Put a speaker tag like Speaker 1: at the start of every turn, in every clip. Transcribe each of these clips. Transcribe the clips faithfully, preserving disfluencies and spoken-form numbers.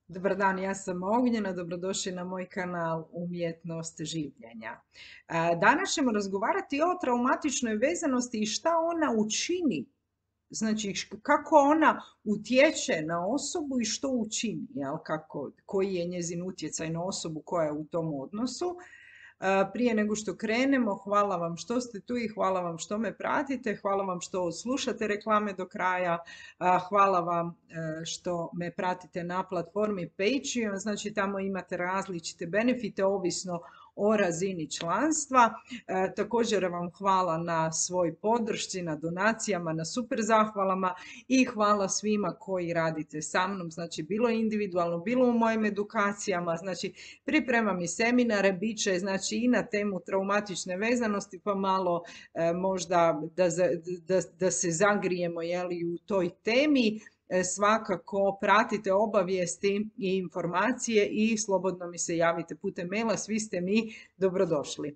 Speaker 1: Dobar dan, ja sam Ognjena, dobrodošli na moj kanal Umjetnost življenja. E, Danas ćemo razgovarati o traumatičnoj vezanosti i šta ona učini, znači š- kako ona utječe na osobu i što učini, jel, kako, koji je njezin utjecaj na osobu koja je u tom odnosu. E, Prije nego što krenemo, hvala vam što ste tu i hvala vam što me pratite, hvala vam što slušate reklame do kraja, a, hvala vam e, što me pratite na platformi Patreon, znači tamo imate različite benefite ovisno o razini članstva. E, također vam hvala na svoj podršci, na donacijama, na super zahvalama i hvala svima koji radite sa mnom, znači bilo individualno, bilo u mojim edukacijama, znači pripremam i seminare, bit će znači i na temu traumatične vezanosti, pa malo e, možda da, da, da se zagrijemo jeli, u toj temi. E, svakako pratite obavijesti i informacije i slobodno mi se javite putem maila, svi ste mi dobrodošli.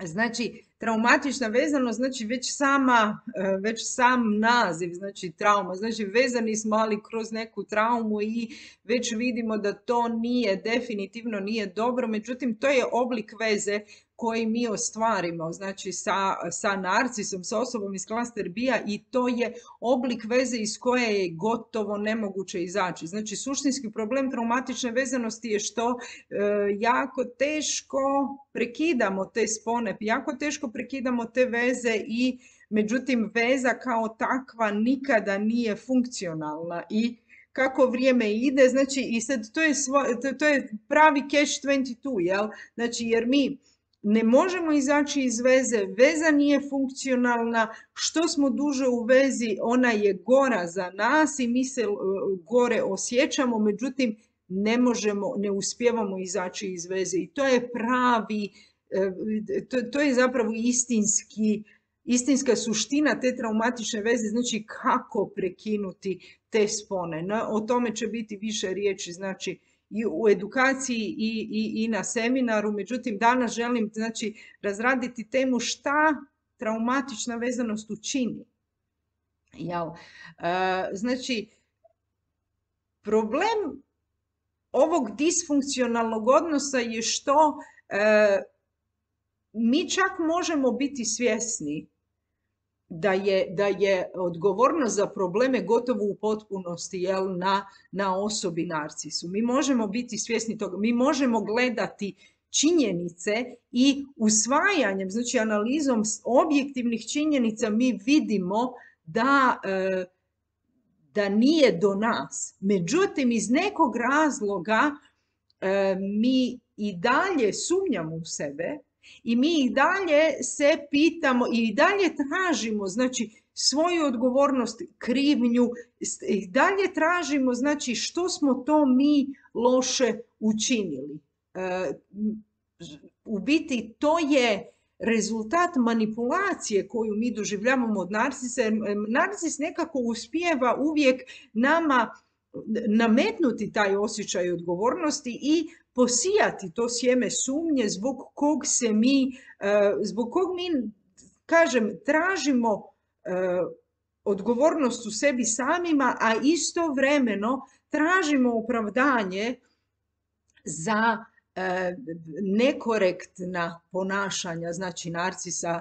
Speaker 1: Znači, traumatična vezanost, znači već sama, e, već sam naziv, znači trauma, znači vezani smo ali kroz neku traumu i već vidimo da to nije, definitivno nije dobro, međutim to je oblik veze koji mi ostvarimo, znači sa, sa narcisom, sa osobom iz klaster B-a i to je oblik veze iz koje je gotovo nemoguće izaći. Znači, suštinski problem traumatične vezanosti je što e, jako teško prekidamo te spone, jako teško prekidamo te veze i međutim veza kao takva nikada nije funkcionalna i kako vrijeme ide, znači i sad to je, svo, to, to je pravi catch dvadeset dva, jel? Znači jer mi ne možemo izaći iz veze, veza nije funkcionalna, što smo duže u vezi, ona je gora za nas i mi se gore osjećamo, međutim ne možemo, ne uspijevamo izaći iz veze i to je pravi, to, to je zapravo istinski, istinska suština te traumatične veze, znači kako prekinuti te spone. No, o tome će biti više riječi, znači i u edukaciji i, i, i na seminaru, međutim danas želim znači razraditi temu šta traumatična vezanost učini. Jel? E, znači, problem ovog disfunkcionalnog odnosa je što e, mi čak možemo biti svjesni da je, da je odgovornost za probleme gotovo u potpunosti jel, na, na osobi narcisu. Mi možemo biti svjesni toga, mi možemo gledati činjenice i usvajanjem, znači analizom objektivnih činjenica mi vidimo da, da nije do nas. Međutim, iz nekog razloga mi i dalje sumnjamo u sebe, i mi i dalje se pitamo i dalje tražimo znači svoju odgovornost, krivnju, i dalje tražimo znači što smo to mi loše učinili. E, u biti to je rezultat manipulacije koju mi doživljavamo od narcisa. Narcis nekako uspijeva uvijek nama nametnuti taj osjećaj odgovornosti i posijati to sjeme sumnje zbog kog se mi, zbog kog mi, kažem, tražimo odgovornost u sebi samima, a istovremeno tražimo opravdanje za nekorektna ponašanja, znači narcisa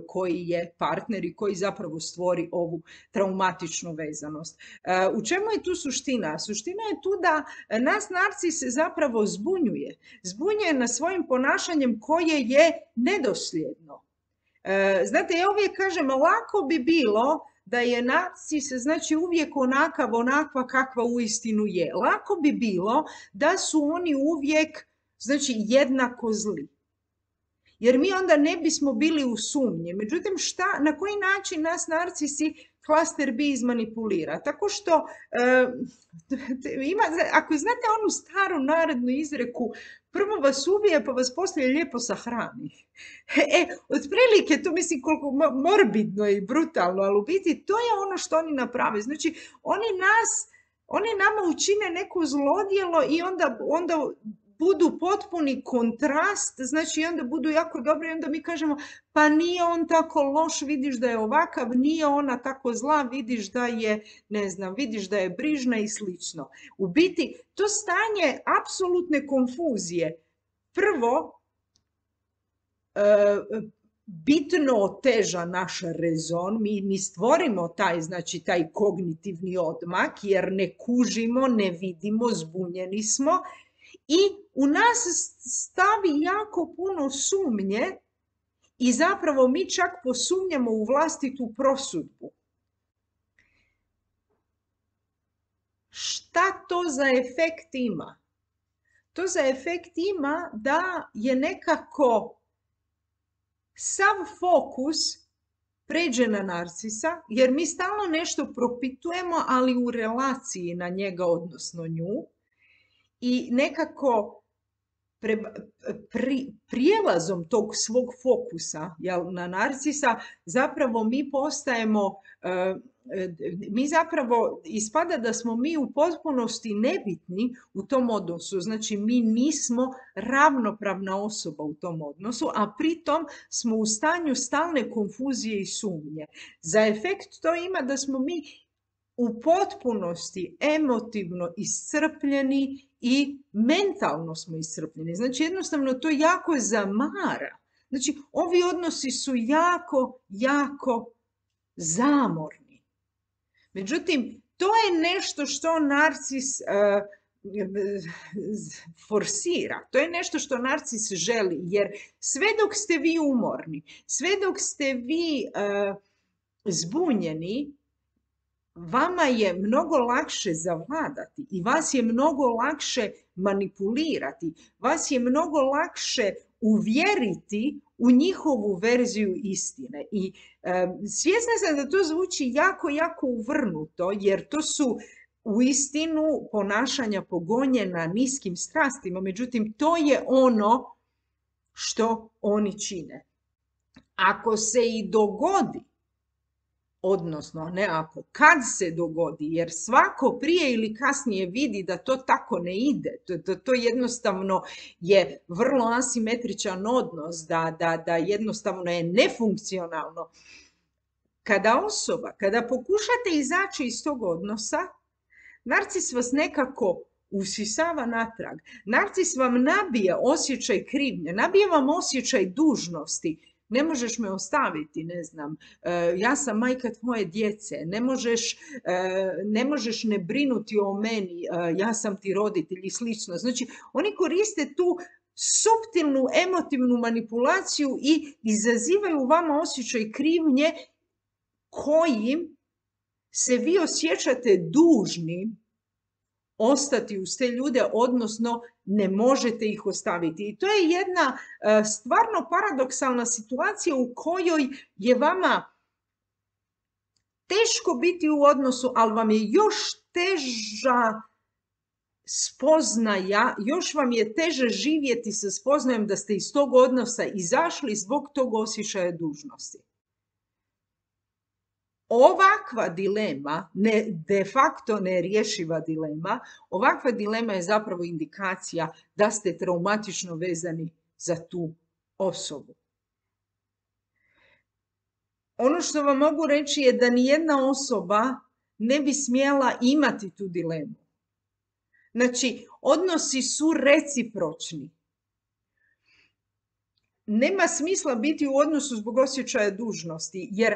Speaker 1: koji je partner i koji zapravo stvori ovu traumatičnu vezanost. U čemu je tu suština? Suština je tu da nas narcis zapravo zbunjuje. Zbunjuje nas svojim ponašanjem koje je nedosljedno. Znate, ja uvijek kažem, lako bi bilo da je narcis znači uvijek onakav, onakva kakva uistinu je. Lako bi bilo da su oni uvijek znači jednako zli. Jer mi onda ne bismo bili u sumnji. Međutim, šta, na koji način nas narcisi klaster B izmanipulira? Tako što, e, ima, ako znate onu staru narodnu izreku, prvo vas ubije pa vas poslije lijepo sahrani. E, otprilike, to mislim koliko morbidno i brutalno, ali u biti to je ono što oni naprave. Znači, oni nas, oni nama učine neko zlodjelo i onda, onda budu potpuni kontrast, znači onda budu jako dobri i onda mi kažemo pa nije on tako loš, vidiš da je ovakav, nije ona tako zla, vidiš da je, ne znam, vidiš da je brižna i slično. U biti, to stanje apsolutne konfuzije prvo bitno oteža naš rezon, mi, mi stvorimo taj, znači, taj kognitivni odmak jer ne kužimo, ne vidimo, zbunjeni smo i u nas stavi jako puno sumnje i zapravo mi čak posumnjamo u vlastitu prosudbu. Šta to za efekt ima? To za efekt ima da je nekako sav fokus pređe na narcisa, jer mi stalno nešto propitujemo, ali u relaciji na njega, odnosno nju, i nekako pre, pri, prijelazom tog svog fokusa, jel, na narcisa, zapravo mi postajemo, uh, mi zapravo ispada da smo mi u potpunosti nebitni u tom odnosu, znači mi nismo ravnopravna osoba u tom odnosu, a pritom smo u stanju stalne konfuzije i sumnje. Za efekt to ima da smo mi u potpunosti emotivno iscrpljeni i mentalno smo iscrpljeni. Znači jednostavno to jako zamara. Znači ovi odnosi su jako, jako zamorni. Međutim, to je nešto što narcis uh, forsira. To je nešto što narcis želi, jer sve dok ste vi umorni, sve dok ste vi uh, zbunjeni, vama je mnogo lakše zavladati i vas je mnogo lakše manipulirati, vas je mnogo lakše uvjeriti u njihovu verziju istine. I e, svjesna sam da to zvuči jako, jako uvrnuto, jer to su uistinu ponašanja pogonjena niskim strastima, međutim to je ono što oni čine. Ako se i dogodi, odnosno ne ako, kad se dogodi, jer svako prije ili kasnije vidi da to tako ne ide, to, to, to jednostavno je vrlo asimetričan odnos, da, da, da jednostavno je nefunkcionalno. Kada osoba, kada pokušate izaći iz tog odnosa, narcis vas nekako usisava natrag. Narcis vam nabije osjećaj krivnje, nabije vam osjećaj dužnosti. Ne možeš me ostaviti, ne znam, ja sam majka tvoje djece, ne možeš, ne možeš ne brinuti o meni, ja sam ti roditelj i slično. Znači, oni koriste tu suptilnu emotivnu manipulaciju i izazivaju u vama osjećaj krivnje kojim se vi osjećate dužni ostati uz te ljude, odnosno ne možete ih ostaviti. I to je jedna uh, stvarno paradoksalna situacija u kojoj je vama teško biti u odnosu, ali vam je još teža spoznaja, još vam je teže živjeti sa spoznajom da ste iz tog odnosa izašli zbog tog osjećaja dužnosti. Ovakva dilema, ne, de facto nerješiva dilema, ovakva dilema je zapravo indikacija da ste traumatično vezani za tu osobu. Ono što vam mogu reći je da nijedna osoba ne bi smjela imati tu dilemu. Znači, odnosi su recipročni. Nema smisla biti u odnosu zbog osjećaja dužnosti, jer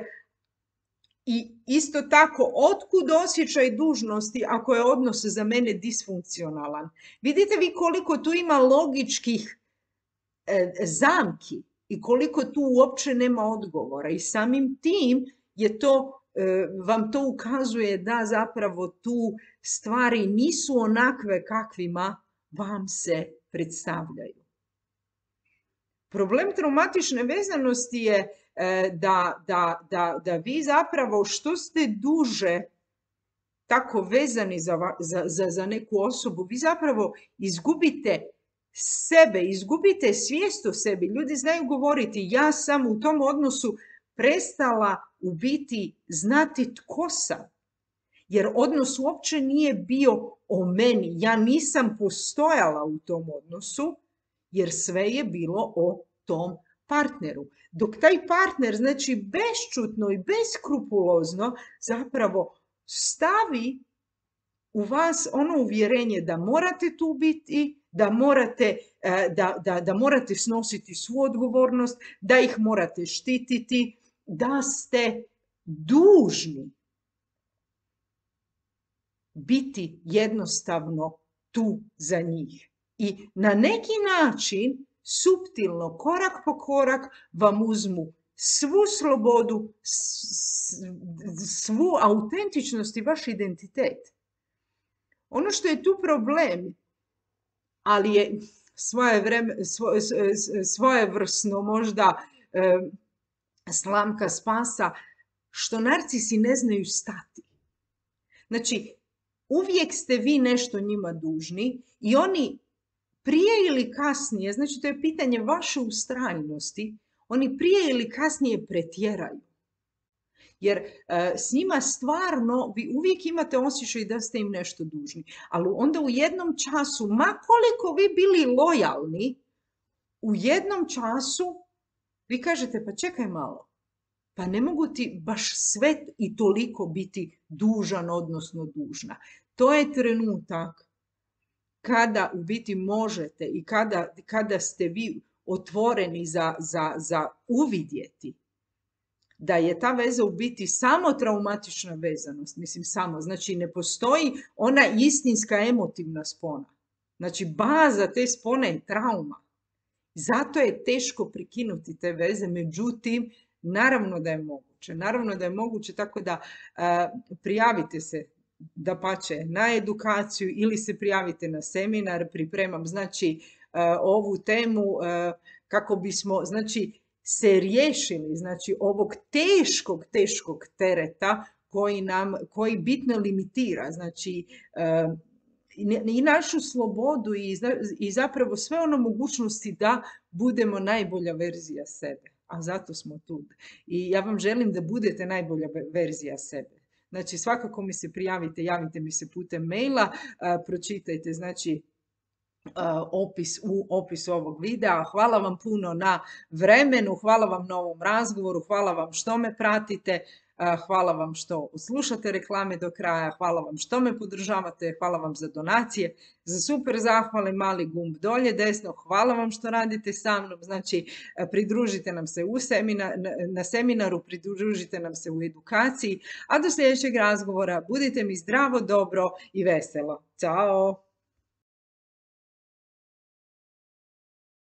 Speaker 1: i isto tako, otkud osjećaj dužnosti ako je odnos za mene disfunkcionalan? Vidite vi koliko tu ima logičkih e, zamki i koliko tu uopće nema odgovora. I samim tim je to, e, vam to ukazuje da zapravo tu stvari nisu onakve kakvima vam se predstavljaju. Problem traumatične vezanosti je Da, da, da, da vi zapravo što ste duže tako vezani za, za, za, za neku osobu, vi zapravo izgubite sebe, izgubite svijest o sebi. Ljudi znaju govoriti, ja sam u tom odnosu prestala u biti znati tko sam. Jer odnos uopće nije bio o meni. Ja nisam postojala u tom odnosu, jer sve je bilo o tom partneru. Dok taj partner, znači bešćutno i beskrupulozno, zapravo stavi u vas ono uvjerenje da morate tu biti, da morate, da, da, da morate snositi svu odgovornost, da ih morate štititi, da ste dužni biti jednostavno tu za njih. I na neki način, suptilno, korak po korak, vam uzmu svu slobodu, svu autentičnost i vaš identitet. Ono što je tu problem, ali je svoje vreme, svoje, svojevrsno možda e, slamka spasa, što narcisi ne znaju stati. Znači, uvijek ste vi nešto njima dužni i oni prije ili kasnije, znači to je pitanje vaše ustrajnosti, oni prije ili kasnije pretjeraju. Jer e, s njima stvarno vi uvijek imate osjećaj da ste im nešto dužni. Ali onda u jednom času, ma koliko vi bili lojalni, u jednom času vi kažete pa čekaj malo, pa ne mogu ti baš sve i toliko biti dužan, odnosno dužna. To je trenutak kada u biti možete i kada, kada ste vi otvoreni za, za, za uvidjeti da je ta veza u biti samo traumatična vezanost, mislim samo, znači ne postoji ona istinska emotivna spona. Znači baza te spone je trauma. Zato je teško prekinuti te veze, međutim, naravno da je moguće. Naravno da je moguće, tako da uh, prijavite se dapače na edukaciju ili se prijavite na seminar, pripremam znači uh, ovu temu uh, kako bismo, znači, se riješili, znači, ovog teškog, teškog tereta koji nam, koji bitno limitira, znači, uh, i našu slobodu i, i zapravo sve ono mogućnosti da budemo najbolja verzija sebe. A zato smo tu. I ja vam želim da budete najbolja verzija sebe. Znači, svakako mi se prijavite, javite mi se putem maila, uh, pročitajte, znači, Uh, opis u opisu ovog videa. Hvala vam puno na vremenu, hvala vam na ovom razgovoru, hvala vam što me pratite, uh, hvala vam što slušate reklame do kraja, hvala vam što me podržavate, hvala vam za donacije, za super zahvale, mali gumb dolje desno, hvala vam što radite sa mnom, znači pridružite nam se u seminar, na seminaru, pridružite nam se u edukaciji, a do sljedećeg razgovora budite mi zdravo, dobro i veselo. Ćao!